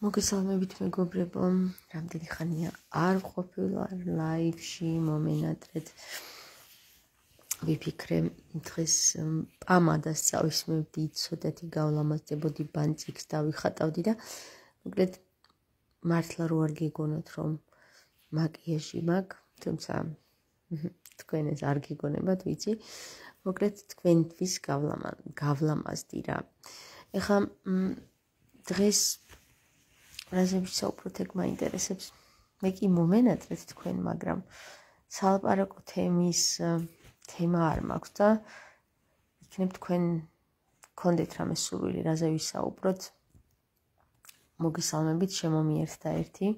მოგესალმებით მეგობრებო, რამდენი ხანია არ ყოფილა ლაივში მომენატრეთ. ვიფიქრე დღეს პამადას წავისმევდი, ცოტათი გავლამაზდებოდი, ბანწიქს დავიხატავდი და მოკლედ მართლა რო არ გეგონოთ რომ მაკიაჟი მაქვს, თუმცა თქვენ ეს არ გეგონებათ, ვიცი. მოკლედ თქვენთვის გავლამაზდი რა. ეხლა დღეს რაზე ვისაუბროთ, ეგ მაინტერესებს. მე კი მომენატრეთ თქვენ, მაგრამ სალაპარაკო თემა არ მაქვს და იქნებ თქვენ გქონდეთ რამე სურვილი რაზე ვისაუბროთ. მოგესალმებით, შემომიერთდა ერთი.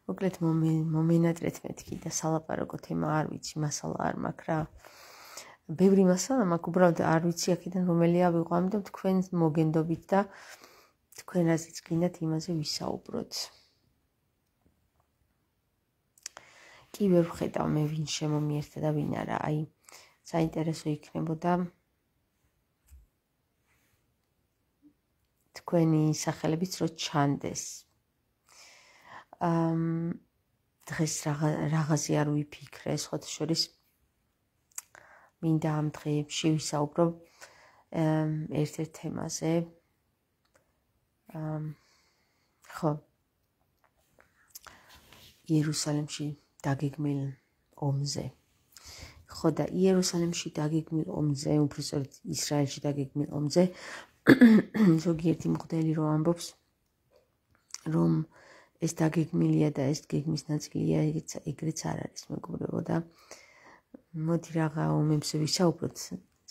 მოკლედ მომენატრეთ მეთქი და სალაპარაკო თემა არ ვიცი, მასალა არ მაქვს რა. ბევრი მასალა მაქვს, უბრალოდ არ ვიცი აქედან რომელია ვიყო, ამიტომ თქვენ მოგენდობით და თქვენ რაზეც გინდათ იმაზე ვისაუბროთ. კი ვერ ვხედავ მე ვინ შემომიერთდა და ვინ არა, აი საინტერესო იქნებოდა თქვენი სახელებიც რო ჩანდეს. დღეს რაღაცი არ ვიფიქრე, სხვათა შორის მინდა ამ დღეებში ვისაუბრო ერთ-ერთ თემაზე. ხო, იერუსალიმში დაგეგმილ ომზე. ხო და იერუსალიმში დაგეგმილ ომზე, უბრალოდ ისრაელში დაგეგმილ ომზე ზოგიერთი მღვდელი რო ამბობს, რომ ეს დაგეგმილია და ეს გეგმის ნაწილია, ეგრეც არ არის მეგობრებო და მოდი რაღა ომებზე ვისაუბროთ,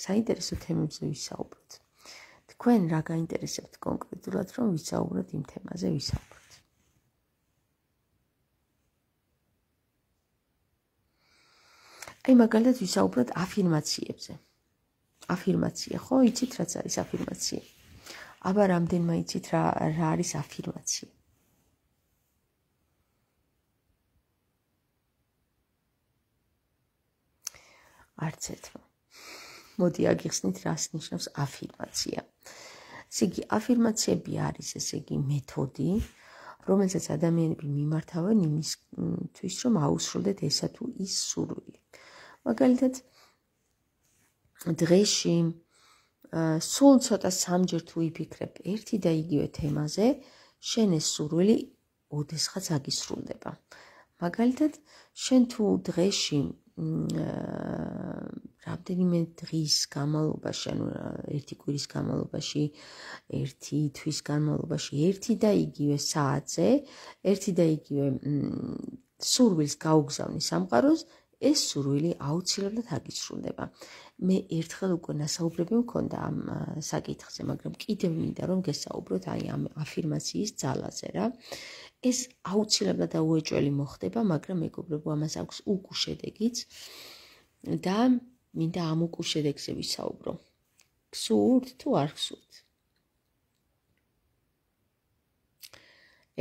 საინტერესო თემებზე ვისაუბროთ. თქვენ რა გაინტერესებთ კონკრეტულად, რომ ვისაუბროთ იმ თემაზე ვისაუბროთ. აი მაგალითად ვისაუბროთ აფირმაციებზე. აფირმაცია, ხო, იცით რაც არის აფირმაცია? აბა რამდენმა იცით რა არის აფირმაცია? არც ერთმა. მოდი აგიხსნით რას ნიშნავს აფირმაცია. ესე იგი, აფირმაციები არის ესე იგი მეთოდი, რომელსაც ადამიანები მიმართავენ იმისთვის, რომ აუსრულდეთ ესა თუ ის სურვილი. მაგალითად, დღეში სულ ცოტა სამჯერ თუ ვიფიქრებ ერთი და იგივე თემაზე, შენ ეს სურვილი ოდესღაც აგისრულდება. მაგალითად, შენ თუ დღეში რამდენიმე დღის განმავლობაში, ანუ ერთი კვირის განმავლობაში, ერთი თვის განმავლობაში, ერთი და იგივე საათზე, ერთი და იგივე სურვილს გაუგზავნი სამყაროს, ეს სურვილი აუცილებლად აგისრულდება. მე ერთხელ უკვე ნასაუბრები მქონდა ამ საკითხზე, მაგრამ კიდევ მინდა რომ გესაუბროთ აი ამ აფირმაციის ძალაზე რა. ეს აუცილებლად აუეჭველი მოხდება, მაგრამ მეგობრებო, ამას აქვს უკუ შედეგიც და მინდა ამ უკუ შედეგზე ვისაუბრო. გსურთ თუ არ გსურთ?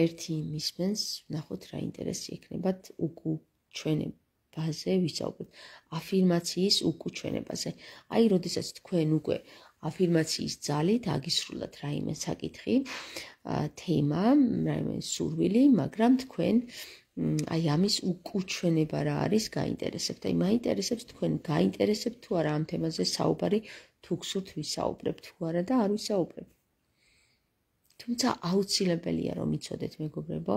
ერთი მისმენს, ნახოთ რა ინტერესი ექნებათ უკუ ჩვენებაზე ვისაუბროთ. αφირმაციის უკუ ჩვენებაზე. აი, როდესაც თქვენ უკვე აფირმაციის ძალით აგისრულათ რაიმე საკითხი, თემა, რაიმე სურვილი, მაგრამ თქვენ აი ამის უკუჩვენება რა არის გაინტერესებთ. აი მაინტერესებს თქვენ გაინტერესებთ თუ არა ამ თემაზე საუბარი, თუ გსურთ ვისაუბრებ თუ არა და არ ვისაუბრებ. თუმცა აუცილებელია რომ იცოდეთ მეგობრებო,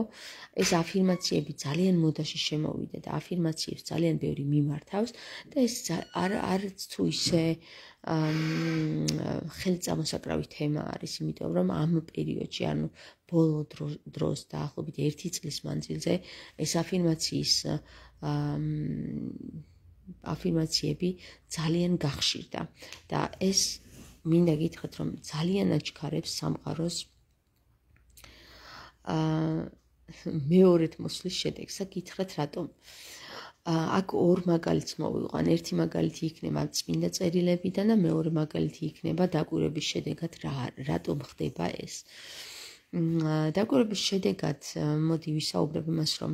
ეს აფირმაციები ძალიან მოდაში შემოვიდა და აფირმაციებს ძალიან ბევრი მიმართავს და ეს არც თუ ისე ხელწამოსაკრავი თემა არის, იმიტომ რომ ამ პერიოდში, ანუ ბოლო დროს დაახლოებით 1 წლის მანძილზე ეს აფირმაციები ძალიან გახშირდა და ეს მინდა გითხრათ რომ ძალიან აჩქარებს სამყაროს მეორედ მოსვლის შედეგს. გითხრათ რატომ? აქ ორ მაგალითს მოვიყვან. ერთი მაგალითი იქნება წმინდა წერილებიდან და მეორე მაგალითი იქნება დაკვირვების შედეგად რატომ ხდება ეს. დაკვირვების შედეგად მოდი ვისაუბრებ იმას, რომ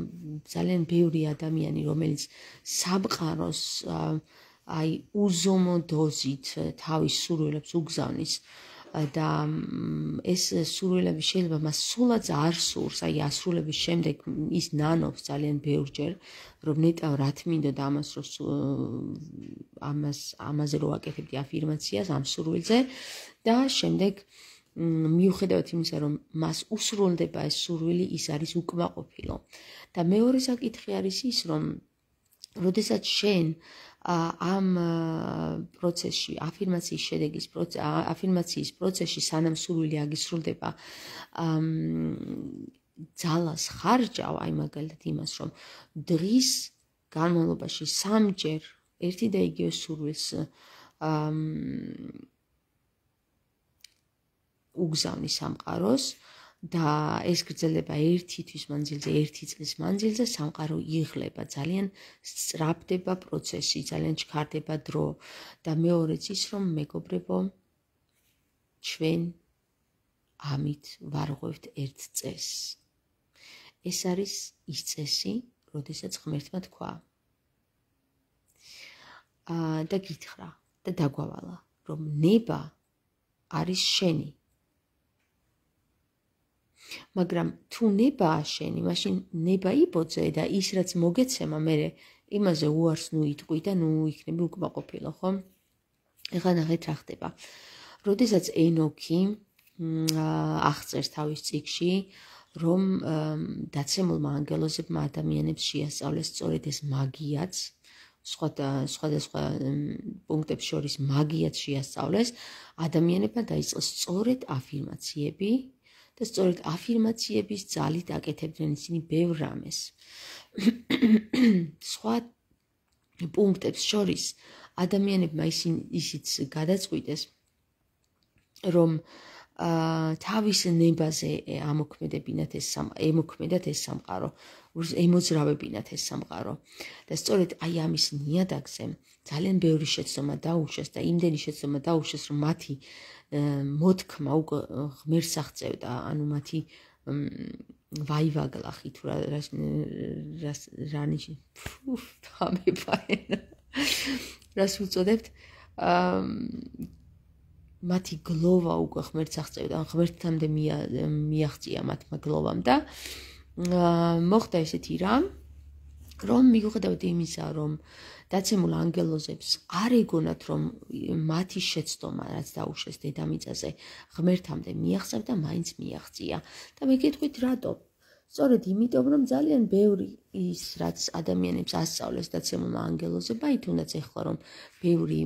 ძალიან ბევრი ადამიანი, რომელიც სამყაროს აი უზომო დოზით თავის სურვილებს უგზავნის, და ეს სურვილები შეიძლება მას სულაც არ სურს, აი ასრულების შემდეგ ის ნანობს ძალიან ბევრჯერ, რომ ნეტავ რა თმინდოდა ამაზე რო აკეთებდი აფირმაციას ამ სურვილზე და შემდეგ მიუხედავად იმისა, რომ მას უსრულდება ეს სურვილი, ის არის უკმაყოფილო. და მეორე საკითხი არის ის, რომ როდესაც შენ ამ პროცესში, აფირმაციის პროცესში, სანამ სურვილი აგისრულდება, ძალას ხარჯავ, აი მაგალითად იმას, რომ დღის განმავლობაში 3-ჯერ ერთი და იგივე სურვილს უგზავნის სამყაროს და ეს გრძელდება 1 თვის მანძილზე, 1 წლის მანძილზე, სამყარო იღლება, ძალიან სწრაფდება პროცესი, ძალიან ჩქარდება დრო და მეორეც ის, რომ მეგობრებო, ჩვენ ამით ვარღვევთ ერთ წესს. ეს არის ის წესი, როდესაც ღმერთმა თქვა და გითხრა და დაგვავალა, რომ ნება არის შენი. მაგრამ თუ ნება შენი, მაშინ ნება იბოძე და ის რაც მოგეცემა მე იმაზე უარს ნუ იტყვი და ნუ იქნები უკმაყოფილო, ხო? ეხლა ნახეთ რა ხდება. როდესაც ენოქი აღწერს თავის წიგნში, რომ დაცემულმა ანგელოზებმა ადამიანებს შეასწავლეს სწორედ ეს მაგიაც, სხვადასხვა პუნქტებს შორის მაგიაც შეასწავლეს, ადამიანებმა დაიწყეს სწორედ აფირმაციები და სწორედ აფირმაციების ძალით აკეთებდნენ ისინი ბევრ რამეს. სხვა პუნქტებს შორის ადამიანებმა ისიც გადაწყვიტეს, რომ თავის ნებაზე ემოქმედათ ეს სამყარო, ემოძრავებინათ ეს სამყარო. და სწორედ აი ამის ნიადაგზე ძალიან ბევრი შეცდომა დაუშვეს და იმდენი შეცდომა დაუშვეს, რომ მათი მოთქმა უკვე ღმერთს აღწევდა, ანუ მათი ვაივაგლახი თუ რას უწოდებთ, მათი გლოვა უკვე ღმერთს აღწევდა, ღმერთთამდე მიაღწია მათმა გლოვამ და მოხდა ესეთი რამ, რომ მიუხედავად იმისა, რომ დაცემულ ანგელოზებს არ ეგონათ, რომ მათი შეცდომა, რაც დაუშვეს დედამიწაზე, ღმერთამდე მიაღწევდა, მაინც მიაღწია. და მეკითხვით რატო? სწორედ იმიტომ, რომ ძალიან ბევრი ის, რაც ადამიანებს ასწავლეს დაცემულმა ანგელოზებმა, აი თუნდაც ეხლა რომ ბევრი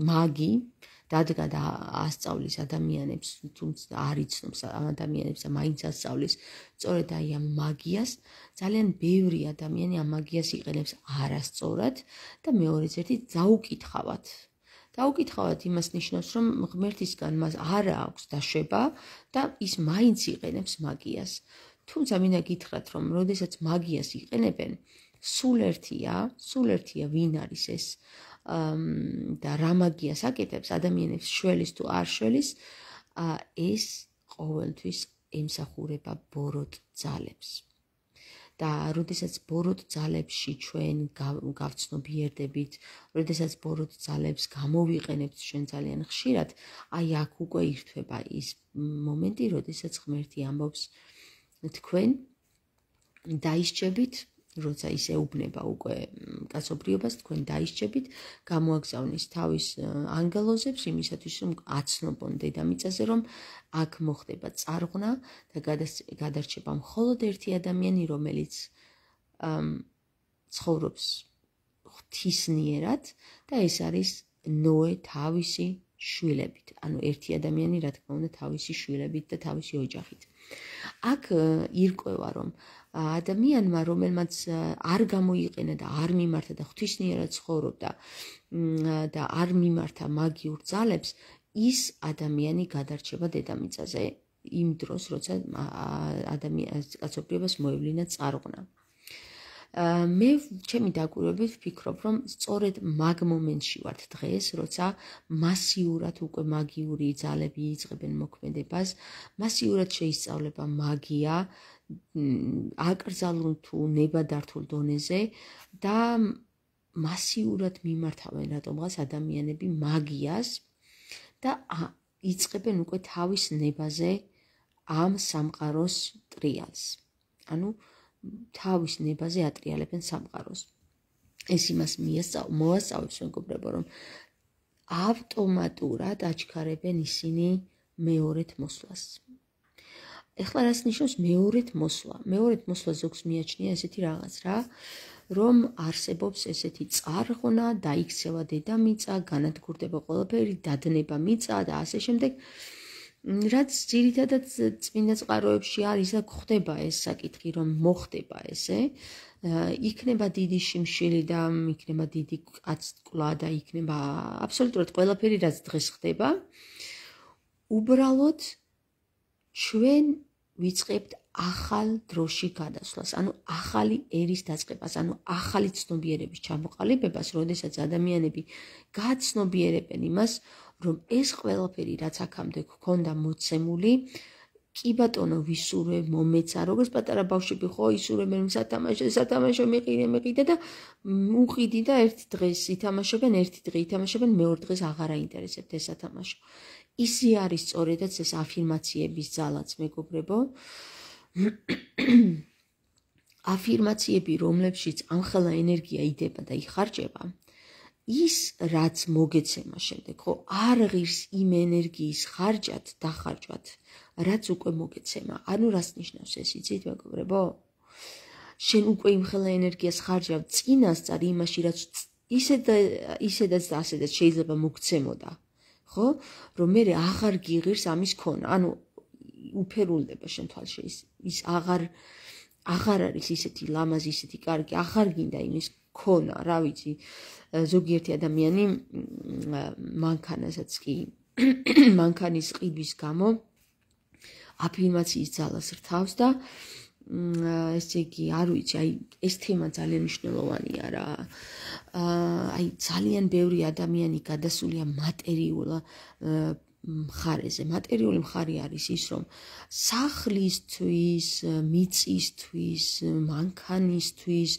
მაგი დადგა და ასწავლის ადამიანებს, თუმცა არ იცნობს ამ ადამიანებს და მაინც ასწავლის სწორედ აი ამ მაგიას, ძალიან ბევრი ადამიანი ამ მაგიას იყენებს არასწორად და მეორეც ერთი დაუკითხავად. დაუკითხავად იმას ნიშნავს, რომ ღმერთისგან მას არ აქვს დაშვება და ის მაინც იყენებს მაგიას. თუმცა მინდა გითხრათ, რომ როდესაც მაგიას იყენებენ, სულ ერთია ვინ არის ეს და რა მაგიას აკეთებს ადამიანებს შველის თუ არ შველის, ეს ყოველთვის ემსახურება ბოროტ ძალებს. და როდესაც ბოროტ ძალებში ჩვენ გავცნობიერდებით, როდესაც ბოროტ ძალებს გამოვიყენებთ ჩვენ ძალიან ხშირად, აი აქ უკვე ირთვება ის მომენტი, როდესაც ღმერთი ამბობს თქვენ დაისჯებით, როცა ის ეუბნება უკვე კაცობრიობას, თქვენ დაისჯებით, გამოაგზავნის თავის ანგელოზებს იმისათვის, რომ აცნობონ დედამიწაზე, რომ აქ მოხდება წარღვნა და გადარჩება მხოლოდ ერთი ადამიანი, რომელიც ცხოვრობს ღვთისნიერად და ეს არის ნოე თავისი შვილებით, ანუ ერთი ადამიანი, რა თქმა უნდა, თავისი შვილებით და თავისი ოჯახით. აქ ირკვევა, რომ ადამიანმა, რომელმაც არ გამოიყენა და არ მიმართა და ღვთისნიერად ცხოვრობდა და არ მიმართა მაგიურ ძალებს, ის ადამიანი გადარჩება დედამიწაზე იმ დროს, როცა კაცობრიობას მოევლინა წარღვნა. მე ჩემი დაკვირვებით ვფიქრობ, რომ სწორედ მაგ მომენტში ვართ დღეს, როცა მასიურად უკვე მაგიური ძალები იწყებენ მოქმედებას, მასიურად შეისწავლება მაგია, აკრძალულ თუ ნებადართულ დონეზე და მასიურად მიმართავენ რატომღაც ადამიანები მაგიას და იწყებენ უკვე თავის ნებაზე ამ სამყაროს ტრიალს. ანუ თავის ნებაზე ატრიალებენ სამყაროს. ეს იმას მოასწავებს, მეგობრებო, რომ ავტომატურად აჩქარებენ ისინი მეორედ მოსვლას. ეხლა რას ნიშნავს მეორედ მოსვლა? მეორედ მოსვლა ზოგს მიაჩნია ესეთი რაღაც რა, რომ არსებობს ესეთი წარღვნა, დაიქცევა დედამიწა, განადგურდება ყველაფერი, დადნება მიწა და ასე შემდეგ. რაც ძირითადად წმინდა წყაროებში არის და გვხდება ეს საკითხი, რომ მოხდება ესე, იქნება დიდი შიმშილი და იქნება დიდი კაცკლა და იქნება აბსოლუტურად ყველაფერი, რაც დღეს ხდება. უბრალოდ ჩვენ ვიწყებთ ახალ დროში გადასვლას, ანუ ახალი ერის დაწყებას, ანუ ახალი ცნობიერების ჩამოყალიბებას, როდესაც ადამიანები გაცნობიერებენ იმას, რომ ეს ყველაფერი, რაც აქამდე გქონდა მოცემული, კი ბატონო ვისურვე, მომეცა, როგორც პატარა ბავშვები ხო ისურვებენ სათამაშო მეყიდე და უყიდი და ერთი დღეს ითამაშებენ, ერთი დღე ითამაშებენ, მეორე დღეს აღარ აინტერესებთ ეს სათამაშო. ისი არის სწორედაც ეს აფირმაციების ძალაც, მეგობრებო. აფირმაციები, რომლებშიც ამხელა ენერგია იდება და იხარჯება, ის რაც მოგეცემა შემდეგ, ხო, არ ღირს იმ ენერგიის ხარჯად, დახარჯვად, რაც უკვე მოგეცემა. ანუ რას ნიშნავს ეს, იცით, მეგობრებო? შენ უკვე იმხელა ენერგიას ხარჯავ წინასწარ იმაში, რაც ისედაც და ასედაც შეიძლება მოგცემოდა. ხო, რომ მე აღარ გიღირს ამის ქონა, ანუ უფერულდება შენ თვალში ის აღარ არის ისეთი ლამაზი, ისეთი კარგი, აღარ გინდა იმის ქონა, რა ვიცი, ზოგიერთი ადამიანი მანქანასაც კი მანქანის ყიდვის გამო აფირმაციის ძალას რთავს და ესე იგი, არ ვიცი, აი ეს თემა ძალიან მნიშვნელოვანია რა. აი ძალიან ბევრი ადამიანი გადასულია მატერიულ მხარეზე. მატერიული მხარე არის ის, რომ სახლისთვის, მიწისთვის, მანქანისთვის,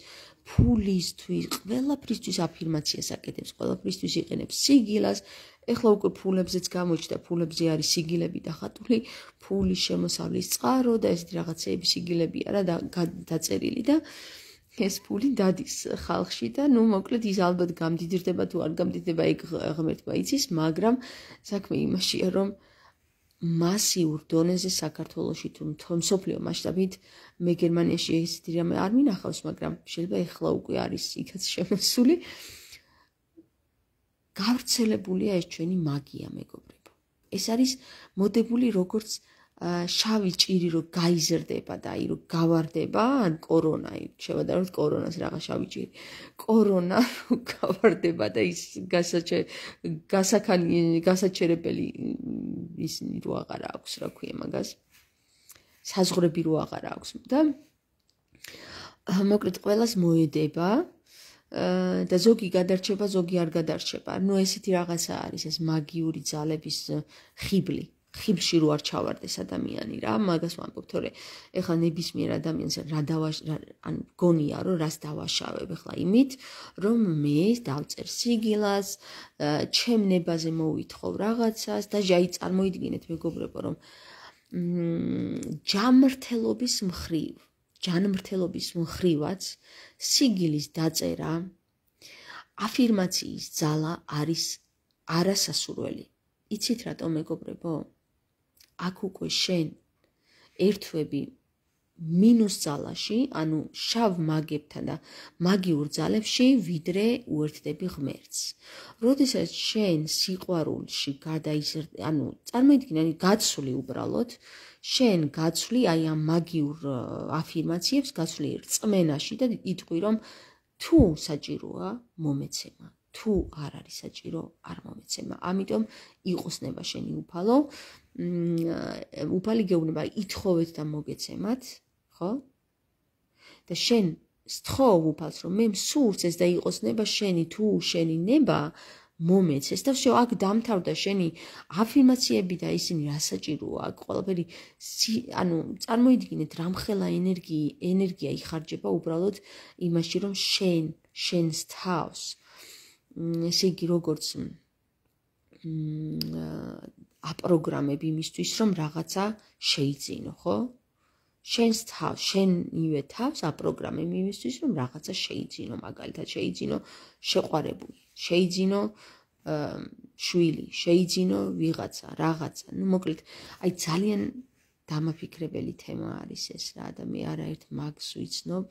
ფულისთვის, ყველაფრისთვის აფირმაციას აკეთებს, ყველაფრისთვის იყენებს სიგილას. ეხლა უკვე ფულებზეც გამოჩნდა, ფულებზე არის სიგილები დახატული, ფულის შემოსავლის წყარო და ესეთი რაღაცეები სიგილებია რა დაწერილი და ეს ფული დადის ხალხში და ნუ მოკლედ ის ალბათ გამდიდრდება თუ არ გამდიდრდება, ეგ ღმერთმა იცის, მაგრამ საქმე იმაშია, რომ მასიურ დონეზე საქართველოში თუ მსოფლიო მასშტაბით მე გერმანიაში ესეთი რამე არ მინახავს, მაგრამ შეიძლება ეხლა უკვე არის იქაც შემოსული. გავრცელებულია ეს ჩვენი მაგია, მეგობრებო. ეს არის მოდებული როგორც შავი ჭირი რო გაიზრდება და აი რო გავარდება, ან კორონა, შევადაროთ კორონას რაღაც შავი ჭირი. კორონა რო გავარდება და ის გასაჩერებელი ისინი რო აღარ აქვს, რა ქვია მაგას. საზღვრები რო აღარ აქვს და მოკლედ ყველას მოედება. და ზოგი გადარჩება, ზოგი არ გადარჩება. ნუ ესეთი რაღაცა არის ეს მაგიური ძალების ხიბლი. ხიბლში რო არ ჩავარდეს ადამიანი რა, მაგას ვამბობ, თორე ეხლა ნებისმიერ ადამიანს ან გონია რომ რას დავაშავებ ეხლა იმით, რომ მე დავწერ სიგილას, ჩემ ნებაზე მოვითხოვ რაღაცას და აი წარმოიდგინეთ მეგობრებო, რომ ჯანმრთელობის მხრივაც სიგილის დაწერა, აფირმაციის ძალა არის არასასურველი. იცით რატომ მეგობრებო? აქ უკვე შენ ერთვები მინუს ძალაში, ანუ შავ მაგებთან და მაგიურ ძალებში, ვიდრე უერთდები ღმერთს. როდესაც შენ სიყვარულში გადაიზრდი, ანუ წარმოიდგინე, გაცვლი უბრალოდ, შენ გაცვლი აი ამ მაგიურ აფირმაციებს, გაცვლი რწმენაში და იტყვი, რომ თუ საჭიროა მომეცემა, თუ არ არის საჭირო, არ მომეცემა. ამიტომ იყოსნება შენი უფალო, უფალი გეუბნება, ითხოვეთ და მოგეცემათ, ხო? და შენ სთხოვ უფალს, რომ მე მსურს ეს და იყოსნება შენი, თუ შენი ნება მომეცეს და всё, აქ დამთავრდა შენი აფირმაციები და ისინი რა საჭიროა, აქ ყველაფერი, ანუ წარმოიდგინეთ, რამხელა ენერგია იხარჯება უბრალოდ იმაში, რომ შენს თავს ესე იგი როგორც აპროგრამებ იმისთვის, რომ რაღაცა შეიძინო, ხო? შენივე თავს აპროგრამებ იმისთვის, რომ რაღაცა შეიძინო, მაგალითად შეიძინო შეყვარებული, შეიძინო შვილი, შეიძინო ვიღაცა, რაღაცა. ნუ მოკლედ, აი ძალიან დამაფიქრებელი თემა არის ეს რა და მე არაერთ მაგს ვიცნობ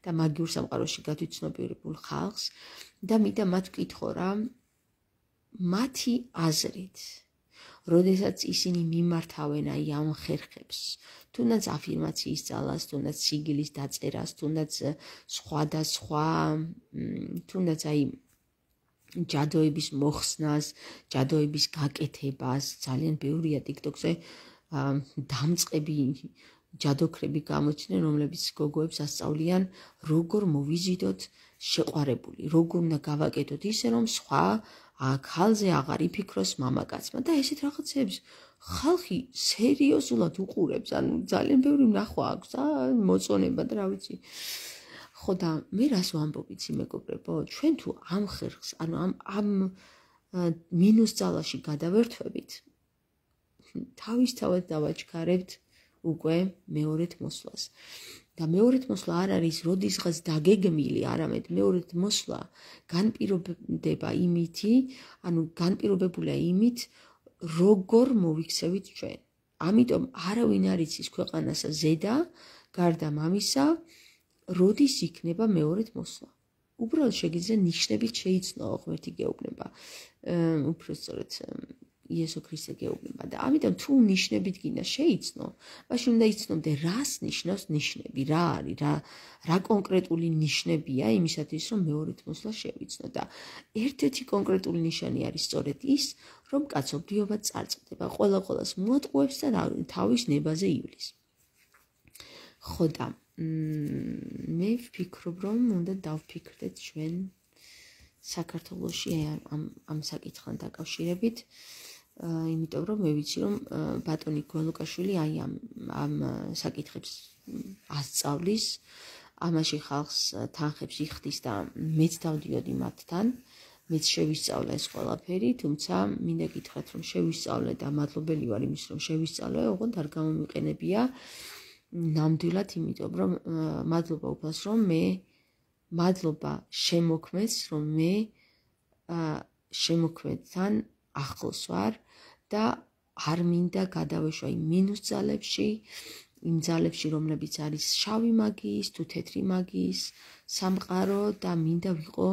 და მაგიურ სამყაროში გადვიცნობიერებულ ხალხს და მინდა მათ ვკითხო რა მათი აზრით როდესაც ისინი მიმართავენ აი ამ ხერხებს თუნდაც აფირმაციის ძალას, თუნდაც სიგილის დაწერას, თუნდაც სხვადასხვა თუნდაც აი ჯადოების მოხსნას, ჯადოების გაკეთებას, ძალიან ბევრია TikTok-ზე დამწყები ჯადოქრები გამოჩნდნენ, რომლებიც გოგოებს ასწავლიან, როგორ მოვიზიდოთ შეყვარებული, როგორ უნდა გავაკეთოთ ისე, რომ სხვა ხალზე აღარ იფიქროს მამაკაცმა და ესეთ რაღაცებს ხალხი სერიოზულად უყურებს, ანუ ძალიან ბევრი ნახვა აქვს და მოწონება და რა ვიცი. ხო და მე რას ვამბობ იცი მეგობრებო, ჩვენ თუ ამ ხერხს, ანუ ამ მინუს ძალაში გადავერთვებით, თავისთავად დავაჩქარებთ უკვე მეორედ მოსვლას. და მეორედ მოსვლა არ არის როდისღაც დაგეგმილი, არამედ მეორედ მოსვლა განპირობდება იმითი, ანუ განპირობებულია იმით, როგორ მოვიქცევით ჩვენ. ამიტომ არავინ არ იცის ქვეყანასა ზედა, გარდა მამისა, როდის იქნება მეორედ მოსვლა. უბრალოდ შეგიძლია ნიშნებით შეიცნო ღმერთი გეუბნება. უფრო სწორედ იესო ქრისტე გეუბნება და ამიტომ თუ ნიშნებით გინდა შეიცნო, მაშინ უნდა იცნობდე რას ნიშნავს ნიშნები, რა არის, რა კონკრეტული ნიშნებია იმისათვის, რომ მეორედ მოსვლა შევიცნო და ერთ-ერთი კონკრეტული ნიშანი არის სწორედ ის, რომ კაცობრიობა წარწყდება, ყველას მოატყუებს და თავის ნებაზე ივლის. ხო და მე ვფიქრობ, რომ უნდა დავფიქრდეთ ჩვენ საქართველოში ამ საკითხთან დაკავშირებით, იმიტომ რომ მე ვიცი რომ ბატონი გველუკაშვილი აი ამ საკითხებს ასწავლის, ამაში ხალხს თანხებს იხდის და მეც დავდიოდი მათთან, მეც შევისწავლე ეს ყველაფერი, თუმცა მინდა გითხრათ რომ შევისწავლე და მადლობელი ვარ იმის რომ შევისწავლე, ოღონდ არ გამომიყენებია ნამდვილად, იმიტომ რომ მადლობა უფალს რომ მე მადლობა შემოქმედს, რომ მე შემოქმედთან ახლოს ვარ და არ მინდა გადავეშვა იმ მინუს ძალებში, იმ ძალებში, რომლებიც არის შავი მაგიის, თუ თეთრი მაგიის სამყარო და მინდა ვიყო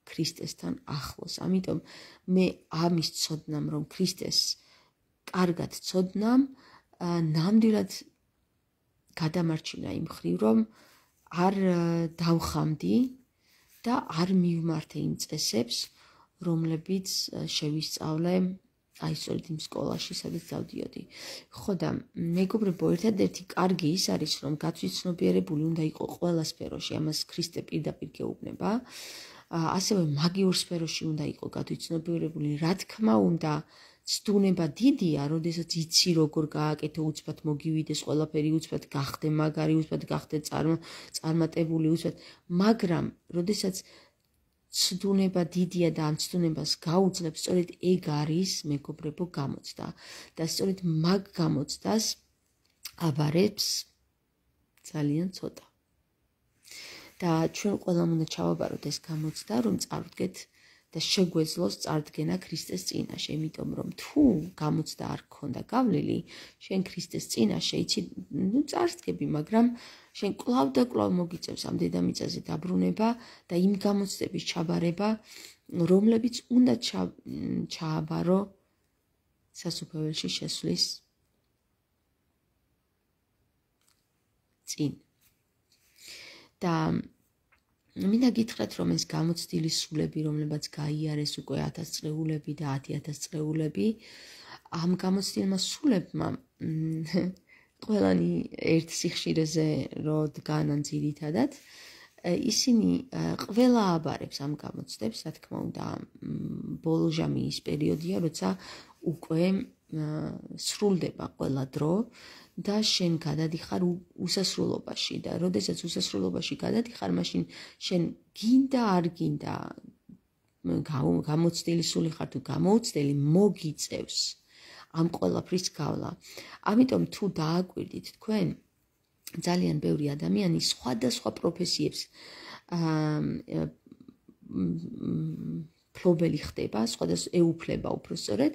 ქრისტესთან ახლოს. ამიტომ მე ამის ცოდნამ, რომ ქრისტეს კარგად ცოდნამ, ნამდვილად გადამარჩინა იმ ხრივ, რომ არ დავხამდი და არ მივმართე იმ წესებს, რომლებიც შევისწავლე აი სწორედ იმ სკოლაში, სადაც დავდიოდი. ხო და მეგობრებო, ერთადერთი კარგი ის არის, რომ გაცვიცნობიერებული უნდა იყო ყველა სფეროში, ამას ქრისტე პირდაპირ გეუბნება. ასევე მაგიურ სფეროში უნდა იყო გაცვიცნობიერებული, რა თქმა უნდა, ცდუნება დიდია, როდესაც იცი როგორ გააკეთო, უცბად მოგივიდეს ყველაფერი, უცბად გახდე მაგარი, უცბად გახდე წარმატებული, უცბად, მაგრამ როდესაც ცდუნება დიდია და ამ ცდუნებას გაუძლებს, სწორედ ეგ არის მეგობრებო გამოცდა და სწორედ მაგ გამოცდას აბარებს ძალიან ცოტა. და ჩვენ ყველამ უნდა ჩავაბაროთ ეს გამოცდა, რომ წავდგეთ და შეგვეძლოს წარდგენა ქრისტეს წინაშე, იმიტომ რომ თუ გამოცდა არ გქონდა გავლილი, შენ ქრისტეს წინაშე იცი, ნუ წარსდგები, მაგრამ შენ კვლავ და კვლავ მოგიწევს ამ დედამიწაზე დაბრუნება და იმ გამოცდების ჩაბარება, რომლებიც უნდა ჩააბარო სასუფეველში შესვლის წინ. და მინდა გითხრათ, რომ ეს გამოცდილი სულები, რომლებაც გაიარეს უკვე 1000 წრეულები და 10,000 წრეულები, ამ გამოცდილმა სულებმა ყველანი ერთ სიხშირეზე რო დგანან ძირითადად, ისინი ყველა აბარებს ამ გამოცდებს, რა თქმა უნდა, ბოლო ჟამიის პერიოდია, როცა უკვე სრულდება ყველა დრო და შენ გადადიხარ უსასრულობაში და როდესაც უსასრულობაში გადადიხარ, მაშინ შენ გინდა არ გინდა გამოცდილი სული ხარ თუ გამოუცდელი, მოგიწევს ამ ყველაფრის გავლა. ამიტომ თუ დააკვირდით თქვენ, ძალიან ბევრი ადამიანი სხვადასხვა პროფესიებს ფლობელი ხდება, სხვადასხვა ეუფლება უბრალოდ,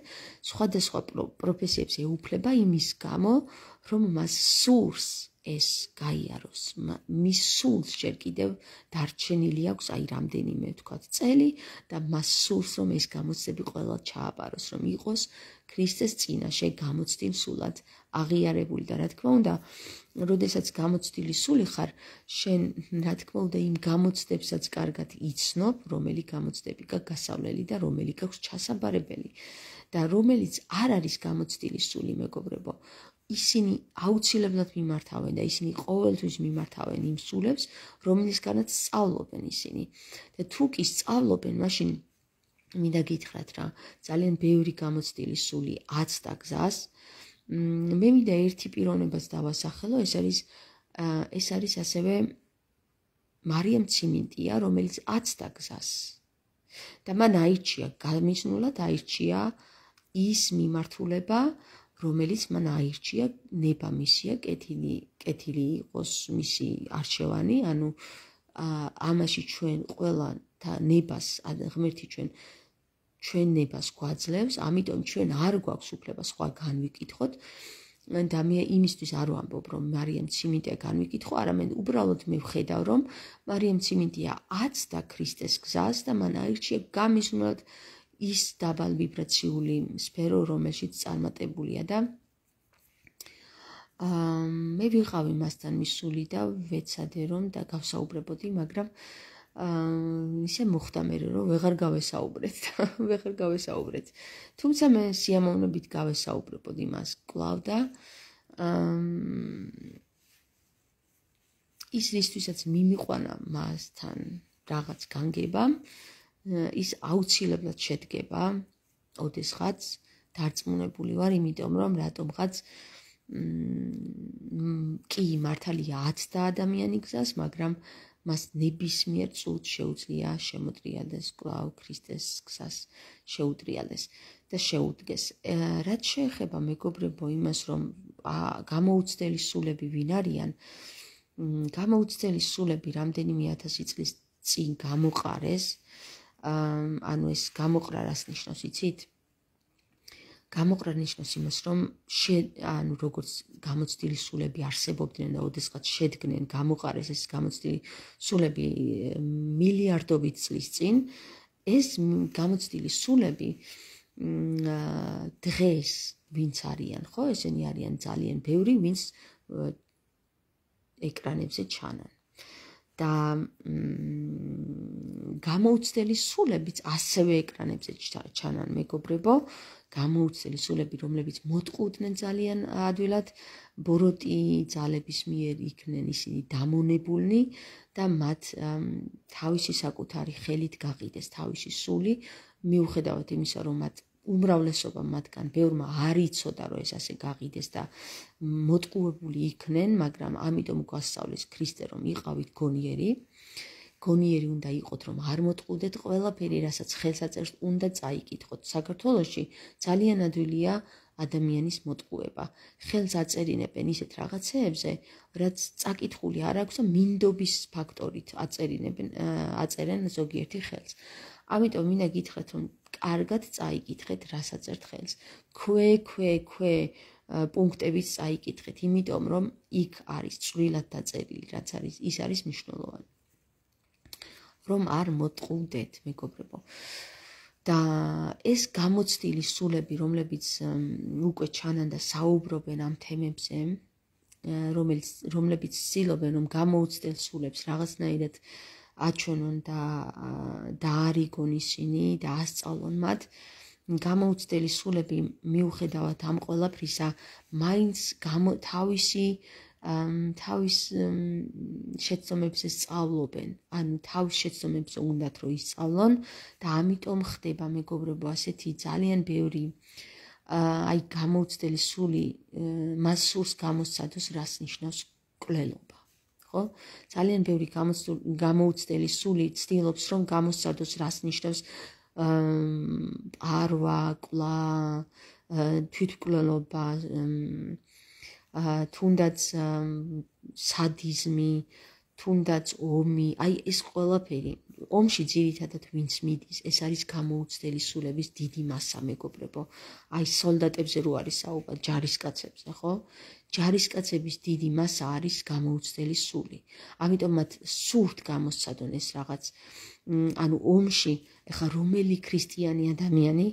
სხვადასხვა პროფესიებს ეუფლება იმის გამო, რომ მას სურს ეს გაიაროს. მის სულს ჯერ კიდევ დარჩენილი აქვს აი რამდენიმე ვთქვათ წელი და მას სურს რომ ეს გამოცდები ყველა ჩააბაროს, რომ იყოს ქრისტეს წინაშე გამოცდილ სულად აღიარებული და რა თქმა უნდა, როდესაც გამოცდილი სული ხარ, შენ რა თქმა უნდა იმ გამოცდებსაც კარგად იცნობ, რომელი გამოცდები გასავლელი და რომელი გაქვს ჩასაბარებელი და რომელიც არ არის გამოცდილი სული, მეგობრებო, ისინი აუცილებლად მიმართავენ და ისინი ყოველთვის მიმართავენ იმ სულებს, რომელისგანაც სწავლობენ ისინი. და თუ კი სწავლობენ, მაშინ მინდა გითხრათ რა, ძალიან ბევრი გამოცდილი სული აცდა გზას. მე მინდა ერთი პიროვნებას დავასახელო, ეს არის ასევე მარიამ ციმინტია, რომელიც აცდა გზას. და მან აირჩია, გამიზნულად აირჩია ის მიმართულება, რომელიც მან აირჩია, ნება მისია, კეთილი იყოს მისი არჩევანი, ანუ ამაში ჩვენ ყველა და ნებას ღმერთი ჩვენ ნებას გვაძლევს, ამიტომ ჩვენ არ გვაქვს უფლება სხვა განვიკითხოთ და მე იმისთვის არ ვამბობ, რომ მარიამ ციმინტია განვიკითხო, არამედ უბრალოდ მე ვხედავ, რომ მარიამ ციმინტია აცდა ქრისტეს გზას და მან აირჩია გამიზნულად ის დაბალ ვიბრაციული სფერო, რომელშიც წარმატებულია და მე ვიყავი მასთან მისული და ვეცადე რომ და გავსაუბრებოდი, მაგრამ ისე მოხდა მე რომ ვეღარ გავესაუბრეთ. თუმცა მე სიამოვნებით გავესაუბრებოდი მას კვლავ და ის რისთვისაც მიმიყვანა მასთან რაღაც განგება, ის აუცილებლად შედგება ოდესღაც დარწმუნებული ვარ, იმიტომ რომ რატომღაც კი მართალია აცდა ადამიანი გზას, მაგრამ მას ნებისმიერ წუთს შეუძლია შემოტრიალდეს კვლავ ქრისტეს გზას შეუტრიალდეს და შეუდგეს. რაც შეეხება მეგობრებო იმას, რომ გამოუცდელი სულები ვინ არიან, გამოუცდელი სულები რამდენიმე ათასი წლის წინ გამოყარეს, ანუ ეს გამოყრა რას ნიშნავს, იცით? გამოყრა ნიშნავს იმას, რომ ანუ როგორც გამოცდილი სულები არსებობდნენ და ოდესღაც შედგნენ, გამოყარეს ეს გამოცდილი სულები მილიარდობით წლის წინ, ეს გამოცდილი სულები დღეს ვინც არიან, ხო? ესენი არიან ძალიან ბევრი, ვინც ეკრანებზე ჩანან. და გამოუცდელი სულებიც ასევე ეკრანებზე ჩანან, მეგობრებო, გამოუცდელი სულები, რომლებიც მოტყუდნენ ძალიან ადვილად, ბოროტი ძალების მიერ იქნენ ისინი დამონებულნი და მათ თავისი საკუთარი ხელით გაყიდეს თავისი სული, მიუხედავად იმისა, რომ მათ უმრავლესობა მათგან ბევრმა არ იცოდა, რომ ეს ასე გაყიდეს და მოტყუებული იქნენ, მაგრამ ამიტომ გვასწავლეს ქრისტე, რომ იყავით გონიერი უნდა იყოთ, რომ არ მოტყუდეთ ყველაფერი, რასაც ხელსაწერს უნდა წაიკითხოთ. საქართველოში ძალიან ადვილია ადამიანის მოტყუება. ხელს აწერინებენ ისეთ რაღაცეებზე, რაც წაკითხული არ აქვს და მინდობის ფაქტორით აწერენ ზოგიერთი ხელს. ამიტომ მინდა გითხრათ, რომ კარგად წაიკითხეთ, რას აწერთ ხელს. ქვე პუნქტებით წაიკითხეთ, იმიტომ რომ იქ არის წვრილად დაწერილი, რაც არის, ის არის მნიშვნელოვანი. რომ არ მოტყუდეთ, მეგობრებო. და ეს გამოცდილი სულები, რომლებიც უკვე ჩანან და საუბრობენ ამ თემებზე, რომლებიც ცდილობენ, რომ გამოუცდელ სულებს რაღაცნაირად აჩვენონ და დაარიგონ ისინი და ასწავლონ მათ, გამოუცდელი სულები მიუხედავად ამ ყველაფრისა, მაინც თავის შეცდომებზე სწავლობენ, ანუ თავის შეცდომებზე უნდათ რომ ისწავლონ და ამიტომ ხდება, მეგობრებო, ასეთი ძალიან ბევრი აი გამოუცდელი სული მას სურს გამოსცადოს, რას ნიშნავს მკვლელობა, ხო? ძალიან ბევრი გამოუცდელი სული ცდილობს, რომ გამოსცადოს, რას ნიშნავს პარვა, კვლა, თვითმკვლელობა, თუნდაც სადიზმი, თუნდაც ომი, აი ეს ყველაფერი, ომში ძირითადად ვინც მიდის, ეს არის გამოუცდელი სულების დიდი მასა, მეგობრებო. აი სოლდატებზე რო არის საუბარი, ჯარისკაცებზე, ხო? ჯარისკაცების დიდი მასა არის გამოუცდელი სული. ამიტომ მათ სურთ გამოსცადონ ეს რაღაც, ანუ ომში, ეხლა რომელი ქრისტიანი ადამიანი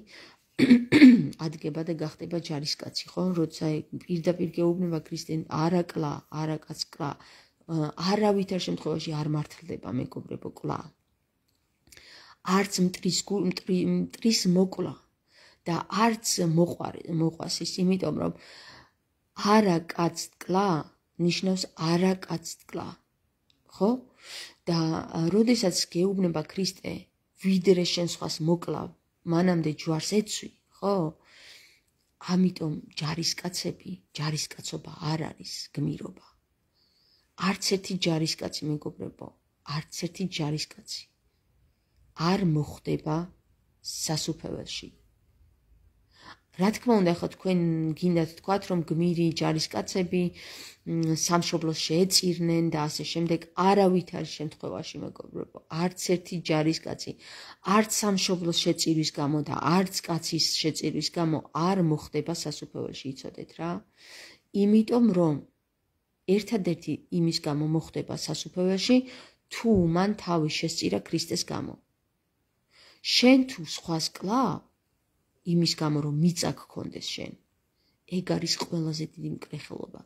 ადგება და გახდება ჯარისკაცი, ხო? როცა პირდაპირ გეუბნება ქრისტიანი, არაკაც კლა, არავითარ შემთხვევაში არ მართლდება, მეგობრებო, კლა. არც მტრის მოკლა და არც მოყვას ის, იმიტომ რომ არაკაც კლა ნიშნავს არაკაც კლა, ხო? და როდესაც გეუბნება ქრისტე, ვიდრე შენ სხვას მოკლავ, მანამდე ჯვარს ეცვი, ხო? ამიტომ ჯარისკაცობა არ არის გმირობა. არც ერთი ჯარისკაცი, მეგობრებო, არც ერთი ჯარისკაცი არ მოხდება სასუფეველში. რა თქმა უნდა, ახლა თქვენ გინდათ თქვათ, რომ გმირი ჯარისკაცები სამშობლოს შეეწირნენ და ასე შემდეგ, არავითარ შემთხვევაში, მეგობრებო, არც ერთი ჯარისკაცი, არც სამშობლოს შეწირვის გამო და არც კაცის შეწირვის გამო არ მოხდება სასუფეველში, იცოდეთ რა? იმიტომ რომ ერთადერთი იმის გამო მოხდება სასუფეველში, თუ მან თავი შესწირა ქრისტეს გამო. შენ თუ სხვას კლავ, იმის გამო რომ მიწა გქონდეს შენ, ეგ არის ყველაზე დიდი მკრეხელობა,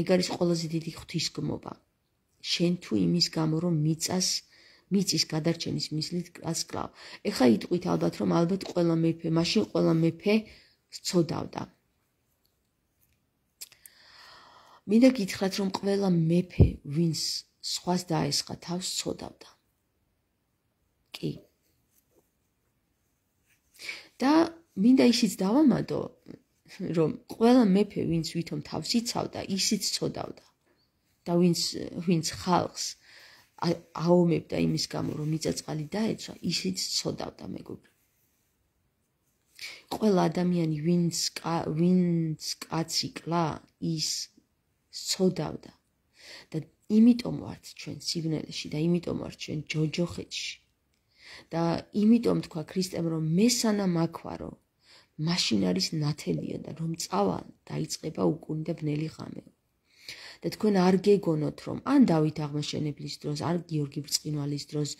ეგ არის ყველაზე დიდი ღვთისგმობა. შენ თუ იმის გამო რომ მიწის გადარჩენის მიზნით გასკლავ. ეხლა იტყვით ალბათ, რომ ალბათ მაშინ ყველა მეფე სცოდავდა. მინდა გითხრათ, რომ ყველა მეფე, ვინც სხვას დაესხა, თავს სცოდავდა. კი. და მინდა ისიც დავამატო, რომ ყველა მეფე, ვინც ვითომ თავს იცავდა, ისიც სცოდავდა. და ვინც ხალხს აომებდა იმის გამო, რომ მიწაწყალი დაეცვა, ისიც სცოდავდა, მეგობრებო. ყველა ადამიანი, ვინც კაცი კლა, ის სცოდავდა. და იმიტომ ვართ ჩვენ სიგნელეში და იმიტომ ვართ ჩვენ ჯოჯოხეთში. და იმიტომ თქვა ქრისტემ, რომ მესანა მაქვარო, მაშინ არის ნათელია და რომ წავალ, დაიწყება უკუნი და ბნელი ღამეო. და თქვენ არ გეგონოთ, რომ ან დავით აღმაშენებლის დროს, ან გიორგი ბრწყინვალის დროს,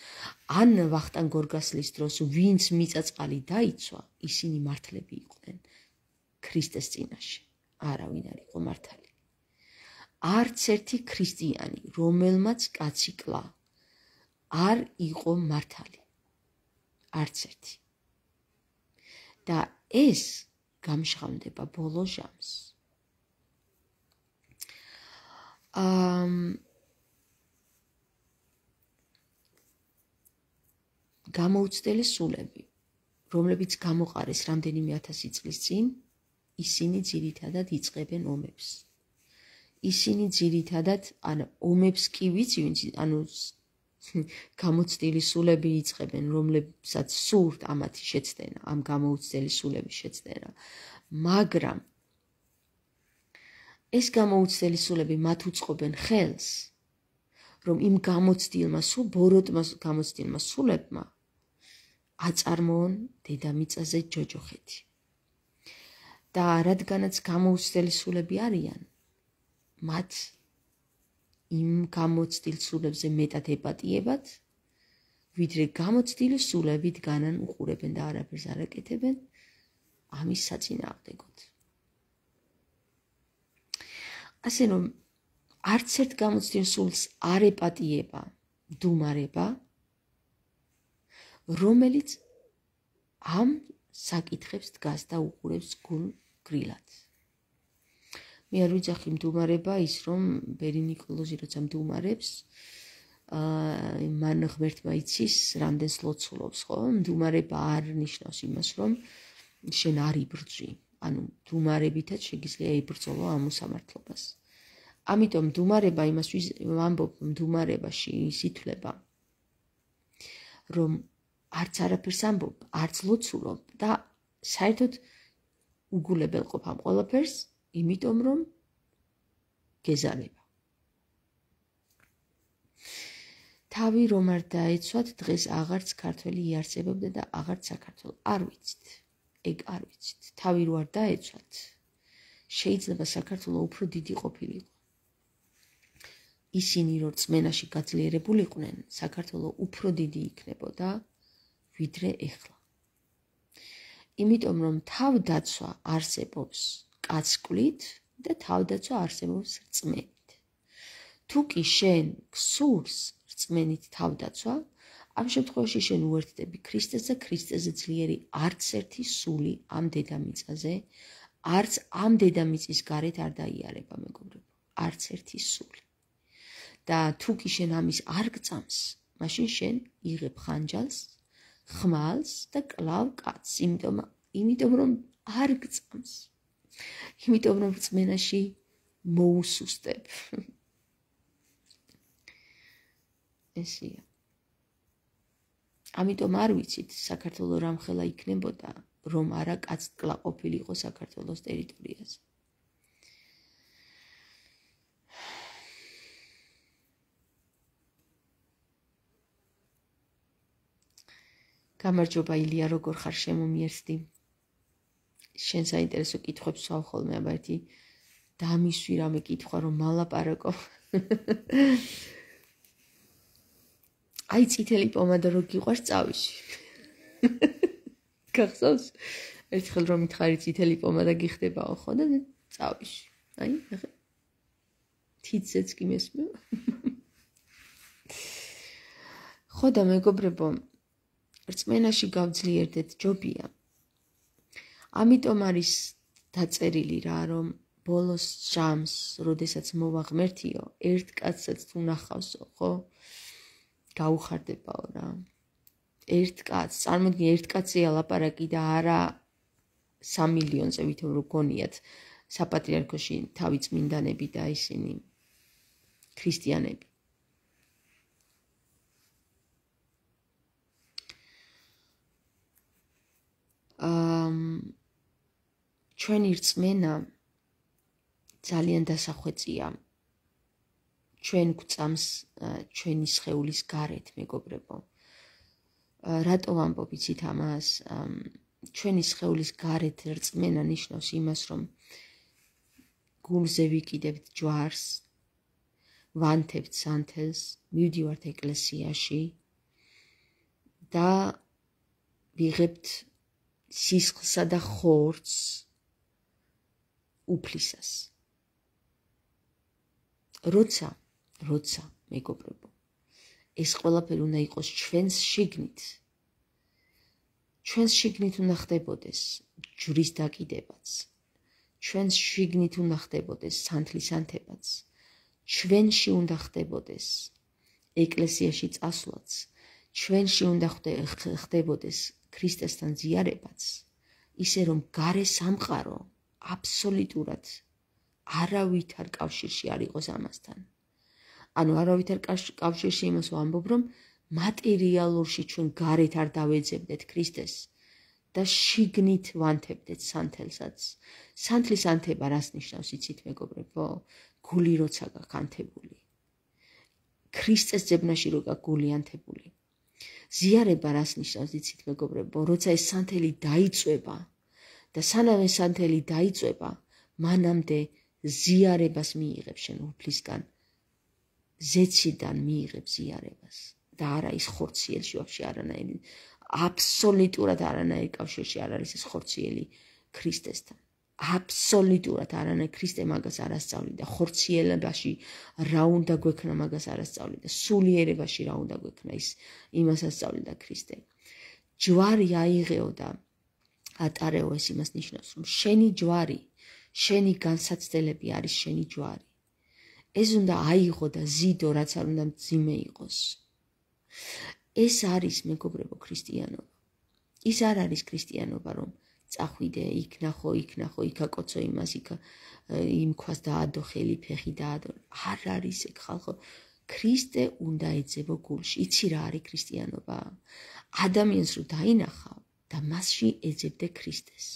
ან ვახტანგ გორგასლის დროს, ვინც მიწაწყალი დაიცვა, ისინი მართლები იყვნენ ქრისტეს წინაშე. არავინ არ იყო მართალი. არც ერთი ქრისტიანი, რომელმაც კაცი კლა, არ იყო მართალი. არც ერთი. და ეს გამჟღავნდება ბოლო ჟამს. გამოუცდელი სულები, რომლებიც გამოყარეს რამდენიმე 1000 წლის წინ, ისინი ძირითადად იწყებენ ომებს. ისინი ძირითადად ომებს კი ვიცი, ანუ გამოცდილი სულები იწყებენ, რომლებსაც სურთ ამათი შეცდენა, ამ გამოუცდელი სულების შეცდენა. მაგრამ ეს გამოუცდელი სულები მათ უწყობენ ხელს, რომ იმ ბოროტმა გამოცდილმა სულებმა აწარმოონ დედამიწაზე ჯოჯოხეთი. და რადგანაც გამოუცდელი სულები არიან, მათ იმ გამოცდილ სულებზე მეტად ეპატიებათ, ვიდრე გამოცდილი სულებით განან უყურებენ და არაფერს არ აკეთებენ ამის საწინააღმდეგოდ. ასე რომ არც ერთ გამოცდილ სულს არ ეპატიება მდუმარება, რომელიც ამ საკითხებს დგას და უყურებს გულგრილად. მე არ ვიძახი მდუმარება ის, რომ ბერი ნიკოლოზი როცა მდუმარებს, მან ღმერთმა იცის, რამდენს ლოცულობს, ხო? მდუმარება არ ნიშნავს იმას, რომ შენ არ იბრძვი. ანუ მდუმარებითაც შეგიძლია იბრძოლო ამ უსამართლობას. ამიტომ მდუმარება იმას ვამბობ, მდუმარებაში ის ითვლება, რომ არც არაფერს ამბობ, არც ლოცულობ და საერთოდ უგულებელყოფ ამ ყველაფერს, იმიტომ რომ გეზარება. თავი რომ არ დაეცვათ, დღეს აღარც ქართველი იარსებობდა და აღარც საქართველო. არ ვიცით. ეგ არ ვიცით. თავი რო არ დაეცვათ, შეიძლება საქართველო უფრო დიდი ყოფილიყო. ისინი რო რწმენაში გაძლიერებულიყვნენ, საქართველო უფრო დიდი იქნებოდა, ვიდრე ეხლა. იმიტომ რომ თავდაცვა არსებობს კაცკვლით და თავდაცვა არსებობს რწმენით. თუ კი შენ გსურს რწმენით თავდაცვა, ამ შემთხვევაში შენ უერთდები ქრისტეს და ქრისტეზე ძლიერი არც ერთი სული ამ დედამიწაზე, არც ამ დედამიწის გარეთ არ დაიარება, მეგობრებო, არც ერთი სული. და თუ კი შენ ამის არ გწამს, მაშინ შენ იღებ ხანჯალს, ხმალს და კლავ კაცს, იმიტომ რომ არ გწამს. იმიტომ რომ რწმენაში მოუსუსტებ. ესია. ამიტომ არ ვიცით საქართველო რამხელა იქნებოდა, რომ არა კაცთკლა ყოფილიყო საქართველოს ტერიტორიაზე. გამარჯობა ილია, როგორ ხარ, შემომიერთდი? შენ საინტერესო კითხვებს ვსვავ ხოლმე, აბა ერთი დამისვი რამე კითხვა რომ მალაპარაკო. აი წითელი პომადა რო გიყვარს წავიში. გახსოვს? ერთხელ რომ მითხარი წითელი პომადა გიხდებაო ხო და წავიში. აი, ნახე. თითზეც კი მესმევა. ხო და მეგობრებო, რწმენაში გავძლიერდეთ ჯობია. ამიტომ არის დაწერილი რა, რომ ბოლოს ჟამს, როდესაც მოვა ღმერთიო, ერთ კაცსაც თუ ნახავსო, ხო? გაუხარდებაო რა. ერთ კაცს, წარმოიდგინე, ერთ კაცია ლაპარაკი და არა 3 მილიონზე ვითომ რო გონიათ საპატრიარქოში თავი წმინდანები და ისინი ქრისტიანები. ჩვენი რწმენა ძალიან დასახვეწია. ჩვენ გვწამს ჩვენი სხეულის გარეთ, მეგობრებო. რატო ვამბობ იცით ამას? ჩვენი სხეულის გარეთ რწმენა ნიშნავს იმას, რომ გულზე ვიკიდებთ ჯვარს, ვანთებთ სანთელს, მივდივართ ეკლესიაში და ვიღებთ სისხლსა და ხორცს უფლისას. როცა, მეგობრებო, ეს ყველაფერი უნდა იყოს ჩვენს შიგნით. ჩვენს შიგნით უნდა ხდებოდეს ჯვრის დაკიდებაც. ჩვენს შიგნით უნდა ხდებოდეს სანთლის ანთებაც. ჩვენში უნდა ხდებოდეს ეკლესიაში წასვლაც. ჩვენში უნდა ხდებოდეს ქრისტესთან ზიარებაც. ისე რომ გარე სამყარო აბსოლუტურად არავითარ კავშირში არ იყოს ამასთან. ანუ არავითარ კავშირში იმას ვამბობ, რომ მატერიალურში ჩვენ გარეთ არ დავეძებდეთ ქრისტეს და შიგნით ვანთებდეთ სანთელსაც. სანთლის ანთება რას ნიშნავს, იცით მეგობრებო? გული როცა გაქვს ანთებული. ქრისტეს ძებნაში რო გაქვს გული ანთებული. ზიარება რას ნიშნავს, იცით მეგობრებო? როცა ეს სანთელი დაიწვება და სანამ ეს სანთელი დაიწვება, მანამდე ზიარებას მიიღებ შენ უფლისგან, ზეციდან მიიღებ ზიარებას და არა ის ხორციელში ვაფშე არანაირი, აბსოლუტურად არანაირი კავშირში არ არის ეს ხორციელი ქრისტესთან. აბსოლუტურად არანაირი ქრისტე მაგას არ ასწავლიდა, ხორციელებაში რა უნდა გვექნა მაგას არ ასწავლიდა, სულიერებაში რა უნდა გვექნა იმას ასწავლიდა ქრისტე. ჯვარი აიღეო და ატარეო, ეს იმას ნიშნავს, რომ შენი ჯვარი, შენი განსაცდელები არის შენი ჯვარი. ეს უნდა აიღო და ზიდო, რაც არ უნდა მძიმე იყოს. ეს არის მეგობრებო ქრისტიანობა. ის არ არის ქრისტიანობა, რომ წახვიდე, იქ ნახო, იქ აკოცო იმას, იმ ქვას დაადო, ხელი ფეხი დაადო. არ არის ეგ ხალხო. ქრისტე უნდა ეძებო გულში. იცი რა არის ქრისტიანობა? ადამიანს რო დაინახავ და მასში ეძებდე ქრისტეს.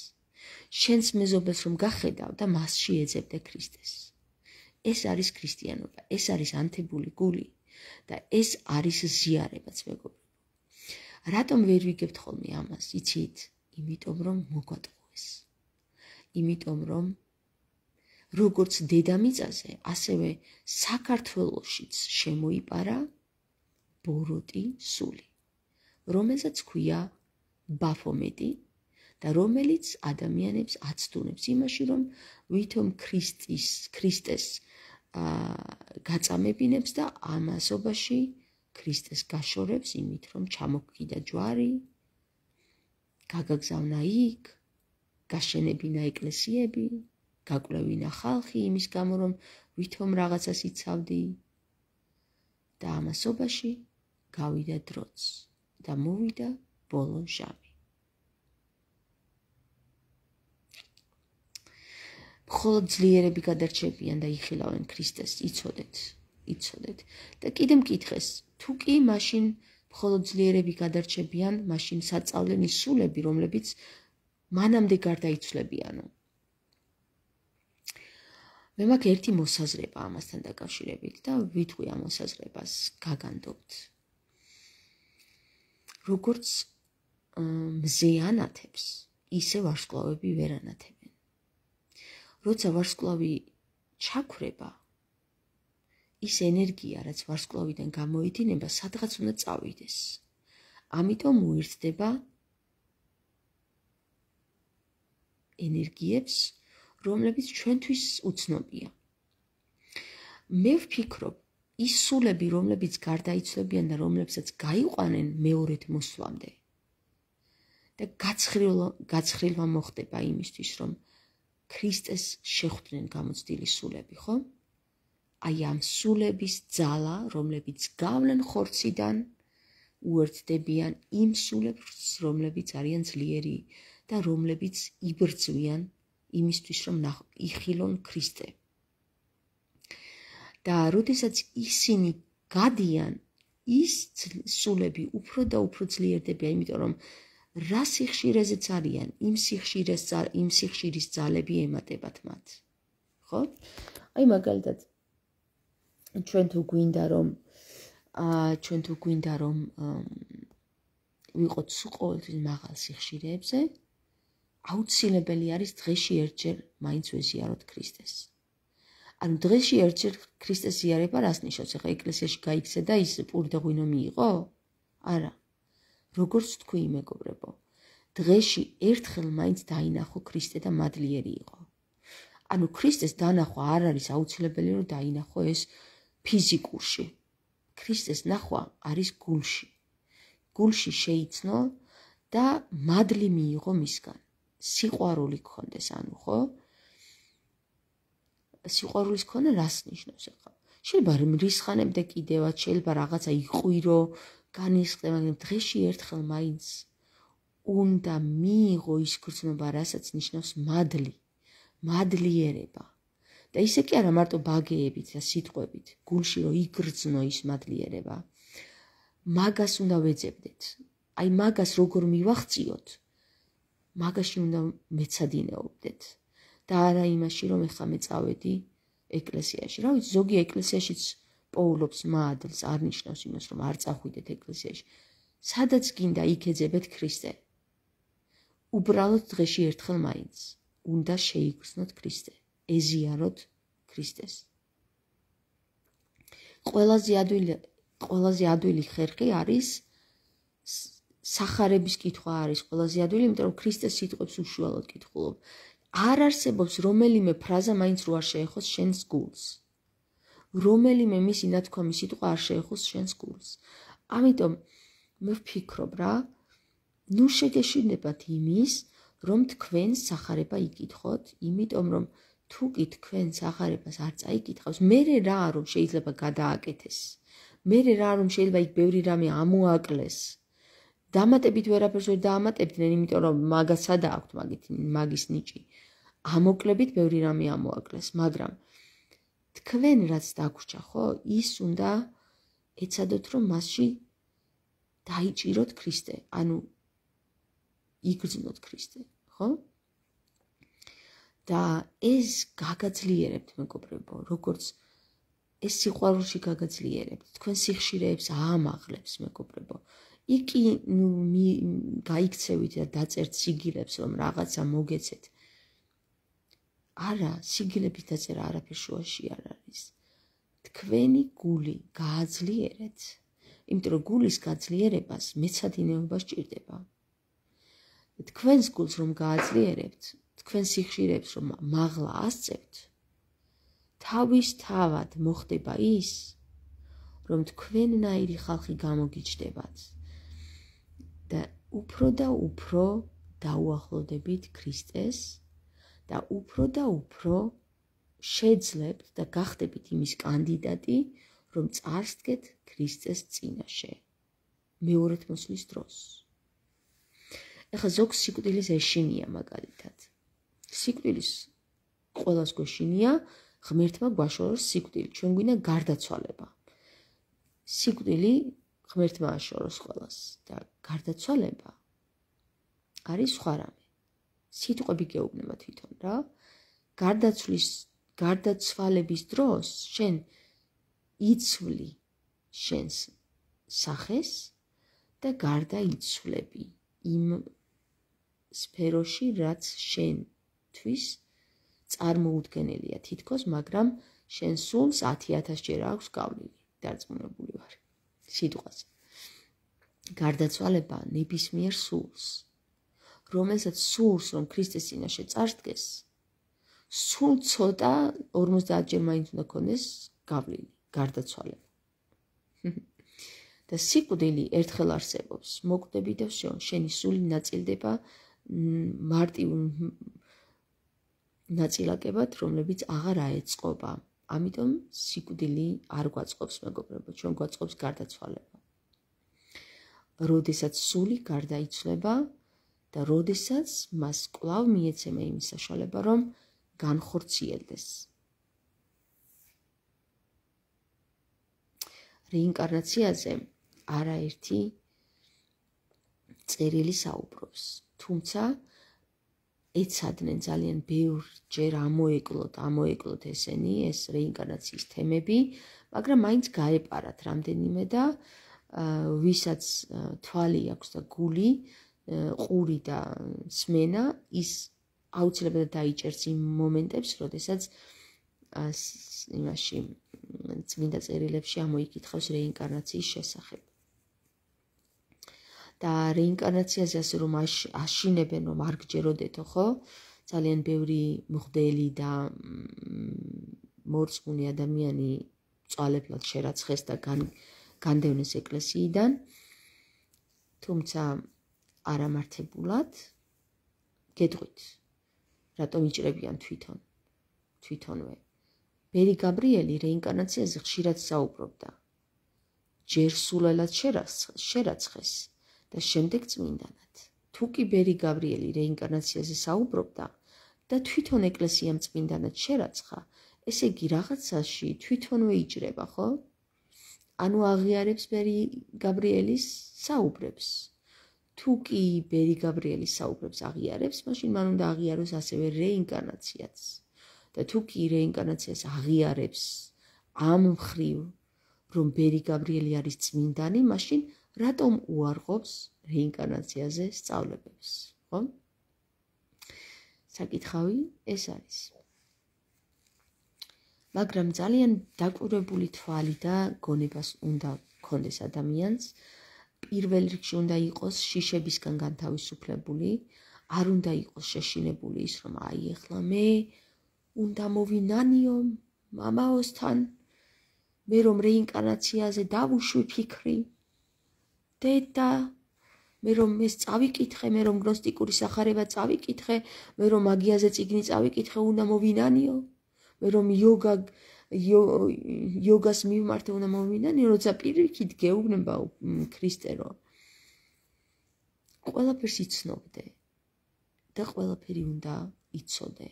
შენს მეზობელს რომ გახედავ და მასში ეძებდე ქრისტეს. ეს არის ქრისტიანობა, ეს არის ანთებული გული და ეს არის ზიარებაც, მეგობრებო. რატომ ვერ ვიგებთ ხოლმე ამას? იცით? იმიტომ რომ მოგვატყუეს. იმიტომ რომ როგორც დედამიწაზე, ასევე საქართველოშიც შემოიპარა ბოროტი სული, რომელსაც ქვია ბაფომეტი და რომელიც ადამიანებს აცდუნებს იმაში, რომ ვითომ ქრისტეს გაწამებინებს და ამასობაში ქრისტეს გაშორებს იმით, რომ ჩამოგკიდა ჯვარი, გაგაგზავნა იქ, გაშენებინა ეკლესიები, გაკვლევინა ხალხი იმის გამო, რომ ვითომ რაღაცას იცავდი და ამასობაში გავიდა დროც და მოვიდა ბოლო ჟამი. მხოლოდ ძლიერები გადარჩებიან და იხილავენ ქრისტეს, იცოდეთ. და კიდე მკითხეს, თუ კი მაშინ მხოლოდ ძლიერები გადარჩებიან, მაშინ საწავლენი სულები, რომლებიც მანამდე გარდაიცვლებიანო. მე მაქვს ერთი მოსაზრება ამასთან დაკავშირებით და ვიტყვი ამ მოსაზრებას, გაგანდობთ. როგორც მზე ანათებს, ისე ვარსკვლავები ვერ ანათებენ. როცა ვარსკვლავი ჩაქვრება, ის ენერგია, რაც ვარსკვლავიდან გამოიდინება, სადღაც უნდა წავიდეს. ამიტომ უერთდება ენერგიებს, რომლებიც ჩვენთვის უცნობია. მე ვფიქრობ, ის სულები, რომლებიც გარდაიცვლებიან და რომლებსაც გაიყვანენ მეორედ მოსვლამდე და გაცხრილვა მოხდება იმისთვის, რომ ქრისტეს შეხვდნენ გამოცდილი სულები, ხო? აი ამ სულების ძალა, რომლებიც გავლენ ხორციდან, უერთდებიან იმ სულებს, რომლებიც არიან ძლიერი და რომლებიც იბრძვიან იმისთვის, რომ იხილონ ქრისტე. და როდესაც ისინი გადიან, ის სულები უფრო და უფრო ძლიერდებიან, იმიტომ რომ რა სიხშირეზეც არიან, იმ სიხშირის ძალები ემატებათ მათ. ხო? აი მაგალითად ჩვენ თუ გვინდა რომ ვიყოთ ყოველთვის მაღალ სიხშირეებზე, აუცილებელი არის დღეში ერთჯერ მაინც ვეზიაროთ ქრისტეს. ანუ დღეში ერთჯერ ქრისტეს ზიარება რას ნიშნავს? ეხლა ეკლესიაში გაიქცე და ის პური და ღვინო მიიღო? არა. როგორც თქვი, მეგობრებო, დღეში ერთხელ მაინც დაინახო ქრისტე და მადლიერი იყო. ანუ ქრისტეს დანახვა არ არის აუცილებელი, რომ დაინახო ეს ფიზიკურში. ქრისტეს ნახვა არის გულში. გულში შეიცნო და მადლი მიიღო მისგან. სიყვარული გქონდეს, ანუ ხო? სიყვარულის ქონა რას ნიშნავს ახლა? შეიძლება რისხანებდე კიდევაც, შეიძლება რაღაცა იყვირო, განისხდე, მაგრამ დღეში ერთხელ მაინც უნდა მიიღო ის გრძნობა, რასაც ნიშნავს მადლი, მადლიერება. და ისე კი არა მარტო ბაგეებით და სიტყვებით, გულში რომ იგრძნო ის მადლიერება. მაგას უნდა ვეძებდეთ. აი მაგას როგორ მივახციოთ, მაგაში უნდა მეცადინეობდეთ. და არა იმაში, რომ ეხლა მე წავედი ეკლესიაში. რა ვიცი, ზოგი ეკლესიაშიც პოულობს მადლს, არ ნიშნავს იმას, რომ არ წახვიდეთ ეკლესიაში. სადაც გინდა იქ ეძებეთ ქრისტე. უბრალოდ დღეში ერთხელ მაინც უნდა შეიგრძნოთ ქრისტე, ეზიაროთ ქრისტეს. ყველაზე ადვილი ხერხი არის სახარების კითხვა არის ყველაზე ადვილი, იმიტომ რომ ქრისტეს სიტყვებს უშუალოდ კითხულობ. არ არსებობს რომელიმე ფრაზა მაინც რო არ შეეხოს შენს გულს. რომელიმე მისი ნათქვამი სიტყვა არ შეეხოს შენს გულს. ამიტომ მე ვფიქრობ რა, ნუ შეგეშინდებათ იმის, რომ თქვენ სახარება იკითხოთ, იმიტომ რომ თუ კი თქვენ სახარებას არ წაიკითხავს, მერე რა რომ შეიძლება გადააკეთეს. მერე რა რომ შეიძლება იქ ბევრი რამე ამოაკლეს. დამატებით ვერაფერს ვერ დაამატებდნენ, იმიტომ რომ მაგას სადა აქვთ მაგის ნიჭი. ამოკლებით ბევრი რამე ამოაკლეს, მაგრამ თქვენ რაც დაგვრჩა, ხო, ის უნდა ეცადოთ, რომ მასში დაიჭიროთ ქრისტე, ანუ იგრძნოთ ქრისტე, ხო? და ეს გაგაძლიერებთ მეგობრებო, როგორც ეს სიყვარულში გაგაძლიერებთ, თქვენ სიხშირეებს აამაღლებს მეგობრებო. იქი გაიქცევით და დაწერთ სიგილებს, რომ რაღაცა მოგეცეთ. არა, სიგილების დაწერა არაფერ შუაში არ არის. თქვენი გული გააძლიერეთ, იმიტომ რომ გულის გაძლიერებას მეცადინეობა სჭირდება. თქვენს გულს რომ გააძლიერებთ, თქვენ სიხშირეებს რომ მაღლა ასწევთ, თავისთავად მოხდება ის, რომ თქვენნაირი ხალხი გამოგიჩნდებათ და უფრო დაუახლოვდებით ქრისტეს და უფრო შეძლებთ და გახდებით იმის კანდიდატი, რომ წარსდგეთ ქრისტეს წინაშე მეორედ მოსვლის დროს. ეხლა ზოგს სიკვდილის ეშინია მაგალითად. სიკვდილის ყველას გვეშინია, ღმერთმა გვაშოროს სიკვდილი, ჩვენ გვინდა გარდაცვალება. სიკვდილი ღმერთმა აშოროს ყველას და გარდაცვალება არის სხვა რამე. სიტყვები გეუბნება თვითონ რა. გარდაცვალების დროს შენ იცვლი შენს სახეს და გარდაიცვლები იმ სფეროში, რაც შენთვის წარმოუდგენელია თითქოს, მაგრამ შენ სულს 10,000 ჯერ აქვს გავლილი, დარწმუნებული ვარ სიტყვაზე. გარდაცვალება ნებისმიერ სულს, რომელსაც სულს რომ ქრისტეს წინაშე წარსდგეს, სულ ცოტა 50 ჯერ მაინც უნდა ქონდეს გავლილი, გარდაცვალება. და სიკვდილი ერთხელ არსებობს, მოკვდები და всё, შენი სული ნაწილდება მარტივ ნაწილაკებად, რომლებიც აღარ აეწყობა. ამიტომ სიკვდილი არ გვაწყობს მეგობრებო, ჩვენ გვაწყობს გარდაცვალება. როდესაც სული გარდაიცვლება და როდესაც მას კვლავ მიეცემა იმის საშუალება, რომ განხორციელდეს. რეინკარნაციაზე არაერთი წერილი საუბრობს, თუმცა ეცადნენ ძალიან ბევრჯერ ამოეკლოთ ესენი, ეს რეინკარნაციის თემები, მაგრამ მაინც გაეპარათ რამდენიმე და ვისაც თვალი აქვს და გული, ყური და სმენა, ის აუცილებლად დაიჭერს იმ მომენტებს, როდესაც იმაში წმინდა წერილებში ამოიკითხავს რეინკარნაციის შესახებ. და რეინკარნაციაზე ასე რომ აშინებენ, რომ არ გჯეროდეთო, ხო? ძალიან ბევრი მღვდელი და მორწმუნე ადამიანი წვალებლად შერაცხეს და განდევნეს ეკლესიიდან, თუმცა არამართებულად. გეტყვით, რატომ იჭრებიან თვითონვე. ბერი გაბრიელი რეინკარნაციაზე ხშირად საუბრობდა. ჯერ სულელად შერაცხეს და შემდეგ წმინდანად. თუ კი ბერი გაბრიელი რეინკარნაციაზე საუბრობდა და თვითონ ეკლესიამ წმინდანად შერაცხა, ესე იგი რაღაცაში თვითონვე იჭრება, ხო? ანუ აღიარებს ბერი გაბრიელის საუბრებს. თუ კი ბერი გაბრიელის საუბრებს აღიარებს, მაშინ მან უნდა აღიაროს ასევე რეინკარნაციაც. და თუ კი რეინკარნაციას აღიარებს ამ მხრივ, რომ ბერი გაბრიელი არის წმინდანი, მაშინ რატომ უარყოფს რეინკარნაციაზე სწავლებებს, ხო? საკითხავი ეს არის. მაგრამ ძალიან დაკვირვებული თვალი და გონებას უნდა გქონდეს ადამიანს, პირველ რიგში უნდა იყოს შიშებისგან განთავისუფლებული, არ უნდა იყოს შეშინებული ის, რომ აი ეხლა მე უნდა მოვინანიო მამაოსთან, მე რომ რეინკარნაციაზე დავუშვი ფიქრი, დედა, მე რომ ეს წავიკითხე, მე რომ გნოსტიკური სახარება წავიკითხე, მე რომ მაგიაზე წიგნი წავიკითხე, უნდა მოვინანიო, მე რომ იოგას მივმართე, უნდა მოვინანიო, როცა პირიქით გეუბნება ქრისტე, რომ ყველაფერს იცნობდე და ყველაფერი უნდა იცოდე.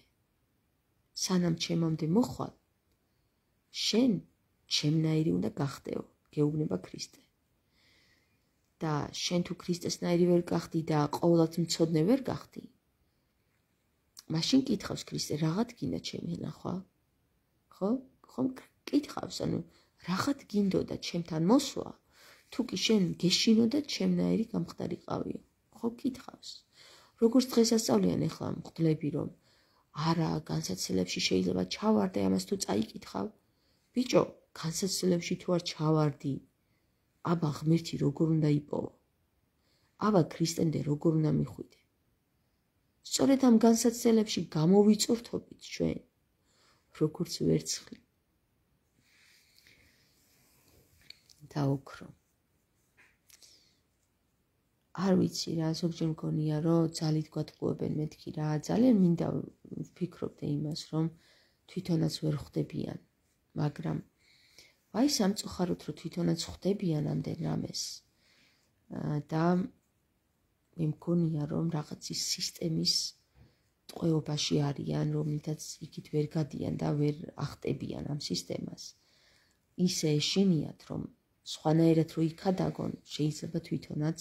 სანამ ჩემამდე მოხვალ, შენ ჩემნაირი უნდა გახდეო, გეუბნება ქრისტე. და შენ თუ ქრისტესნაირი ვერ გახდი და ყოველად მცოდნე ვერ გახდი, მაშინ კითხავს ქრისტე, რაღაც გინდა ჩემი ნახვა? ხო? ხომ კითხავს, ანუ რაღაც გინდოდა ჩემთან მოსვლა? თუ კი შენ გეშინოდა ჩემნაირი გამხდარიყავიო. ხო კითხავს. როგორც დღესასწაულიან ახლა მღვდლები რომ არა, განსაცდელებში შეიძლება ჩავარდე, ამას თუ წაიკითხავ. ბიჭო, განსაცდელებში თუ არ ჩავარდი, აბა ღმერთი როგორ უნდა იპოვო? აბა ქრისტემდე როგორ უნდა მიხვიდე? სწორედ ამ განსაცდელებში გამოვიწურთობით ჩვენ, როგორც ვერცხლი. დაუქრო. არ ვიცი რა, ზოგჯერ მგონია, რომ ძალით გვატყუებენ მეთქი რა, ძალიან მინდა ვფიქრობდე იმას, რომ თვითონაც ვერ ხვდებიან, მაგრამ აი სამწუხაროდ რომ თვითონაც ხვდებიან ამდენ რამეს და მე მგონია, რომ რაღაც ის სისტემის ტყვეობაში არიან, რომლითაც იქით ვერ გადიან და ვერ ახტებიან ამ სისტემას. ისე ეშინიათ, რომ სხვანაირად რო იქადაგონ, შეიძლება თვითონაც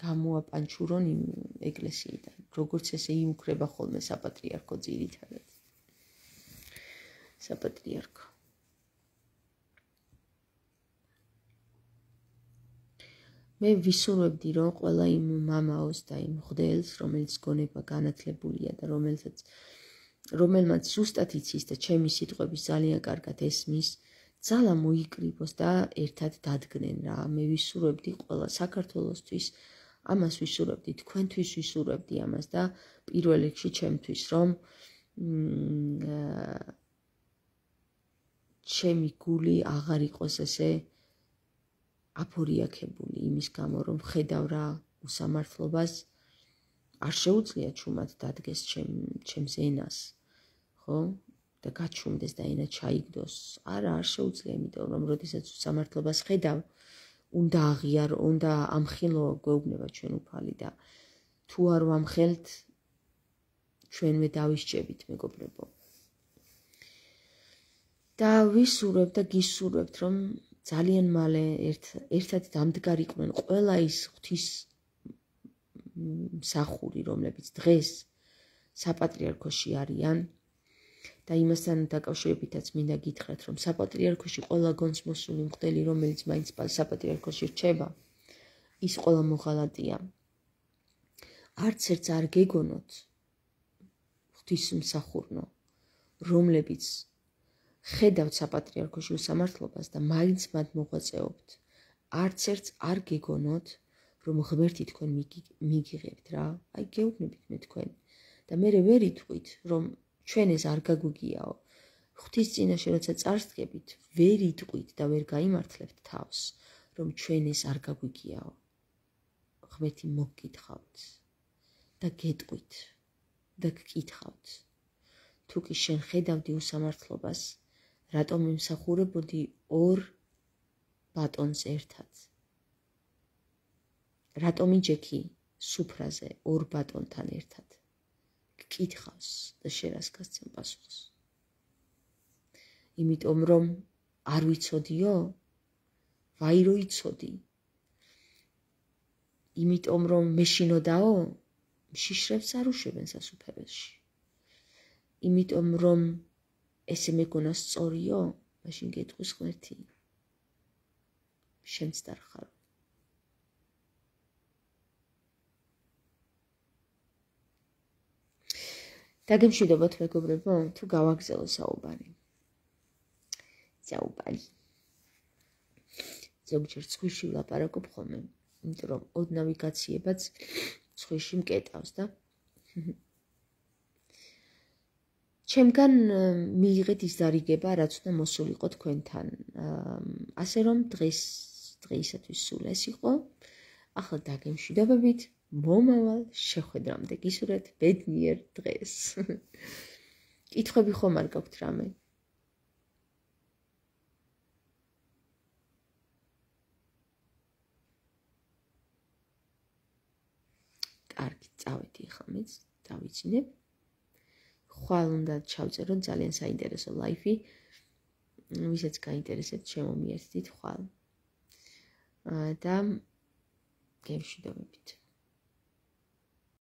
გამოაპანჩურონ იმ ეკლესიიდან, როგორც ესე იუქრება ხოლმე საპატრიარქო ძირითადად. საპატრიარქო. მე ვისურვებდი, რომ ყველა იმ მამაოს და იმ მღვდელს, რომელიც გონება განათლებულია და რომელმაც ზუსტად იცის და ჩემი სიტყვების ძალიან კარგად ესმის, ძალა მოიკრიბოს და ერთად დადგნენ რა. მე ვისურვებდი ყველა საქართველოსთვის, ამას ვისურვებდი, თქვენთვის ვისურვებდი ამას და პირველ რიგში ჩემთვის, რომ ჩემი გული აღარ იყოს ესე აფორიაქებული იმის გამო, რომ ხედავ რა უსამართლობას, არ შეუძლია ჩუმად დადგეს ჩემს ენას, ხო? და გაჩუმდეს და ენა ჩაიგდოს. არა, არ შეუძლია, იმიტომ რომ როდესაც უსამართლობას ხედავ, უნდა აღიარო, უნდა ამხილო გვეუბნება ჩვენ უფალი და თუ არ ვამხელთ, ჩვენვე დავისჭებით, მეგობრებო. და ვისურვებთ და გისურვებთ, რომ ძალიან მალე ერთად დამდგარიყვნენ ყველა ის ღვთის მსახური, რომლებიც დღეს საპატრიარქოში არიან და იმასთან დაკავშირებითაც მინდა გითხრათ, რომ საპატრიარქოში ყველა გონს მოსული მღვდელი, რომელიც მაინც საპატრიარქოში რჩება, ის ყველა მოღალატეა. არც ერთს არ გეგონოთ ღვთისმსახურნო, რომლებიც ხედავთ საპატრიარქოში უსამართლობას და მაინც მათ მოღვაწეობთ. არც ერთს არ გეგონოთ, რომ ღმერთი თქვენ მიგიღებთ რა. აი გეუბნებით მე თქვენ და მე ვერ იტყვით, რომ ჩვენ ეს არ გაგვიგიაო. ღვთის წინაშე როცა წარსდგებით, ვერ იტყვით და ვერ გაიმართლებთ თავს, რომ ჩვენ ეს არ გაგვიგიაო. ღმერთი მოგკითხავთ და გეტყვით და გკითხავთ. თუ კი შენ ხედავდი უსამართლობას, რატომ იმსახურებოდი ორ ბატონს ერთად? რატომ იჯექი სუფრაზე ორ ბატონთან ერთად? გკითხავს და შენ რას გასცემ პასუხს? იმიტომ რომ არ ვიცოდიო? ვაირო იცოდი? იმიტომ რომ მეშინოდაო? მშიშრებს არ უშვებენ სასუფეველში. იმიტომ რომ ესე მეგონა სწორიო? მაშინ გეტყვის ღმერთი. შენც დარხარო. დაგემშვიდობათ მეგობრებო, თუ გავაგზავნო საუბარი. ზოგჯერ ცხვირში ვლაპარაკობ ხოლმე, იმიტომ რომ ოდნავი გაციებაც ცხვირში მკეტავს და ჩემგან მიიღეთ ის დარიგება, რაც უნდა მოსულიყო თქვენთან. ასე რომ დღეისათვის სულ ეს იყო. ახლა დაგემშვიდობებით, მომავალ შეხვედრამდე გისურვებთ ბედნიერ დღეს. კითხვები ხომ არ გაქვთ რამე? კარგი, წავედი ახლა მეც დავიცინებ. ხვალ უნდა ჩავწეროთ ძალიან საინტერესო ლაიფი. ვისაც გაინტერესებთ, შემომიერთდით ხვალ. და გემშვიდობებით.